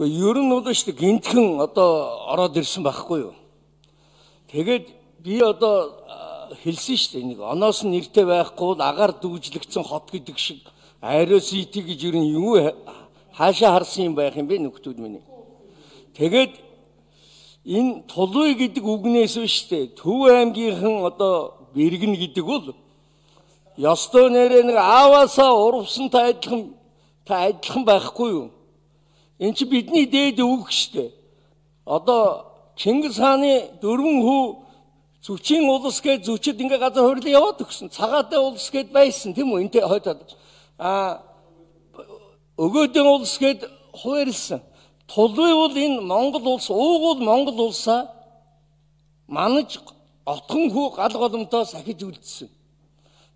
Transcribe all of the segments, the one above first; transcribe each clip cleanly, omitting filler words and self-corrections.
Ер нь бол шүү дээ гинтхэн одоо ороод ирсэн байхгүй юу. Тэгээд би одоо хэлсэн шүү дээ нэг оноос нь нэртэй байхгүй агаар дүүжлэгдсэн хот гэдэг шиг аэросити гэж ер нь юу хаашаа харсан юм байх юм бэ нөхдүүд минь. Тэгээд энэ Тулуй гэдэг үгнээс шүү дээ Төв аймгийнхан одоо Бэргэн гэдэг бол ёстой нэрээ нэг ааваасаа урвсантай адилхан байхгүй юу. Энд чи бидний дээд үг штэ. Одоо Чингис хааны 4 хүү зүчийн улс гэж зүчид ингээ газар хуурлаа яваад өгсөн. Цагаатай улс гэд байсан тийм үү? Энтэй хойдод. Өгөөдөн улс гэд хуваарлсан. Тулуй бол энэ Монгол улс, уугуул Монгол улсаа манаж отхон хүү гал голомтоо сахиж үлдсэн.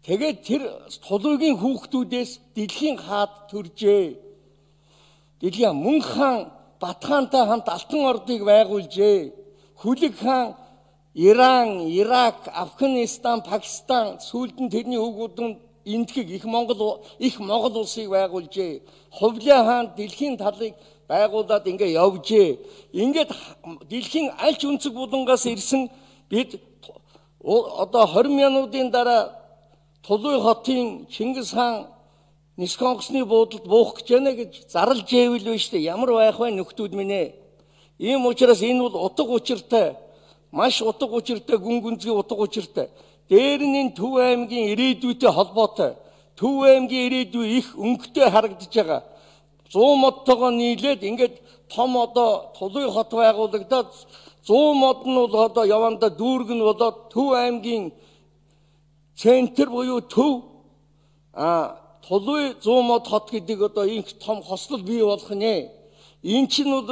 Тэгээд тэр Тулуйгийн хүүхдүүдээс дэлхийн хаад төржээ. Дэлхийн Мөн хаан Батхаантай хамт Алтан ордыг байгуулжээ. Хүлэг хаан Иран, Ирак, Афганистан, Пакистан сүүлд нь тэрний хүүгүүдэн эндхийг их Монгол улсыг байгуулжээ. Хувлаа хаан дэлхийн талыг байгуулад ингээ явжээ. Ингээд дэлхийн аль ч өнцөг булангаас ирсэн бид одоо 20 минутын дараа Тулуй хотын Чингис хаан Нисэх онгоцны буудалд буух гэж байна гэж зарлж ивэл биш үү? Ямар байх вэ нөхдүүд минь ээ? Ийм учраас энэ бол утга учиртай, маш утга учиртай, гүн гүнзгий утга учиртай. Дээр нь энэ Төв аймгийн ирээдүйтэй холбоотой. Төв аймгийн ирээдүй их өнгөтэй харагдаж байгаа. 100 модтойгоо нийлээд ингээд том одоо Тулуй хот байгуулагдаад 100 мод нь бол одоо яванда дүүрэг нь болоод Төв аймгийн центр буюу Төв Тулуй 100 мод хот гэдэг одоо инх том хослол бий болох нэ. Энэ чинь бол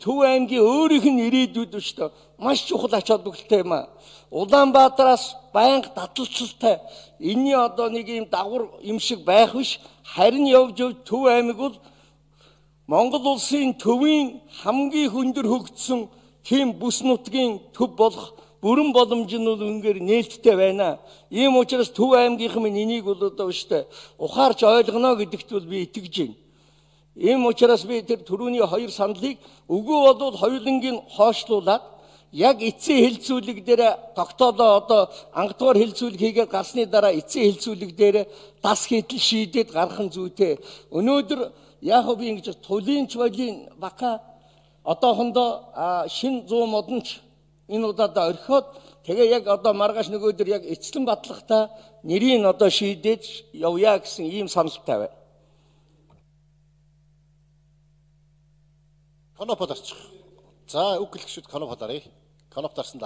Төв аймгийн өөрийнх нь ирээдүйд шүү дээ. Маш чухал ач холбогдолтой юм аа. Улаанбаатараас байнга таталцалтай энэний одоо нэг юм дагвар юм шиг байх биш. Харин явж Төв аймаг бол Монгол улсын төвийн хамгийн хөндөр хөгжсөн тийм бүс нутгийн төв болох бүрэн боломж нь бол үнээр нээлттэй байна. Ийм учраас Төв аймгийнхан минь энийг бол одоо өштэй ухаарч ойлгоно гэдэгт бол би итгэж байна. Ийм учраас би тэр түрүүний хоёр саналыг өгөө болвол хоёулангийн хоошлуулад яг эцсийн хэлцүүлэг дээр тогтоолоо одоо ангадугаар хэлцүүлэг хийгээд гарсны дараа эцсийн хэлцүүлэг дээр дас хийдэл шийдээд гарах нь зүйтэй. Өнөөдөр яг би ингэж Тулинч болын бака одоохондоо шин 100 модонч энэ удаадаа орхиод тэгээ яг одоо маргааш нөгөөдөр яг эцлэн батлагта нэрийг одоо шийдээд явъя гэсэн ийм саналтай байна. Коноп дарчих. За үг гэлэгчүүд коноп даръя. Коноп дарсан